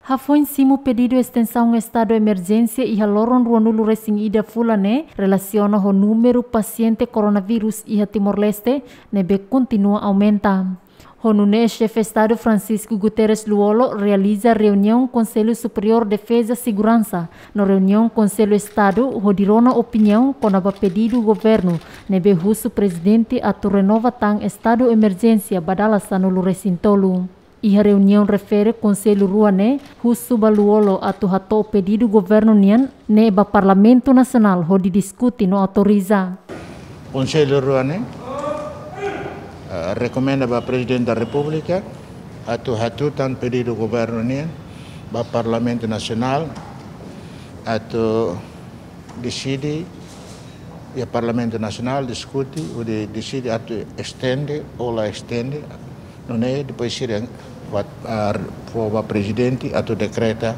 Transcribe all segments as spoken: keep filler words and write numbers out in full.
Hafoin simu pedidu estensaun estadu emerjénsia iha loron ruanulu resin ida fulan ne'e relasiona ho númeru pasiente koronavírus iha Timor-Leste ne'ebé kontinua aumenta. Ho nune'e Xefe Estadu Francisco Guterres Lú-Olo realiza reuniaun Konsellu Superiór Defeza Seguransa no reuniaun Konsellu Estadu hodi rona opiniaun kona-ba pedidu governu ne'ebé husu Prezidente atu renova tan estadu emerjénsia ba dala sanulu resin tolu. Iha reuniaun refere konsellu rua ne'e husu ba Lú-Olo atu hato'o pedidu governu nian ne'e ba Parlamentu Nasionál hodi diskute no autoriza. Konsellu rua ne'e, eh, rekomenda ba Prezidente da Repúblika atu hatutan pedidu governu nian ba Parlamentu Nasionál atu deside, iha Parlamentu Nasionál diskute hodi deside atu estende ou la estende, nune'e depois sira ba, ah, fó ba Prezidente atu dekreta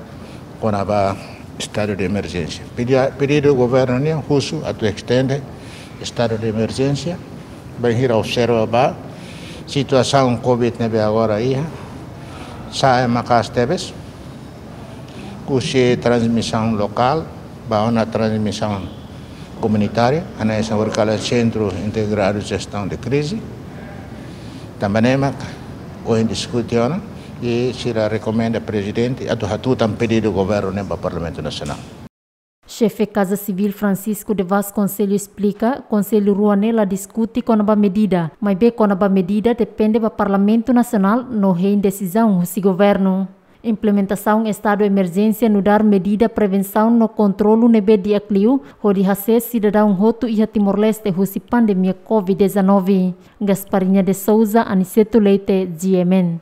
kona-ba estadu de emerjénsia. Pedi-, pedidu governu nian husu atu estende estadu de emerjénsia, bainhira observa ba situasaun COVID ne'ebé agora iha, sa'e maka'as tebes, husi transmisaun lokál ba ona transmisaun komunitária, hanesan horikalan Sentru Integradu Jestaun de Krize. Tanba ne'e mak ohin diskute ona i sira rekomenda Prezidente atu hatutan pedidu governu ne'e ba Parlamentu Nasionál. Xefe Kaza Sivíl Francisco de Vasconcelos esplika, konsellu rua ne'e la diskute kona-ba medida, maibé kona-ba medida depende ba Parlamentu Nasionál no hein desizaun husi governu. Implementasaun estadu emerjénsia nu'udar medida prevensaun no kontrolu ne'ebé di'ak liu hodi hasees sidadaun hotu iha Timor-Leste husi pandemia COVID dezanove. Gasparinha de Souza, Aniceto Leite, G M N.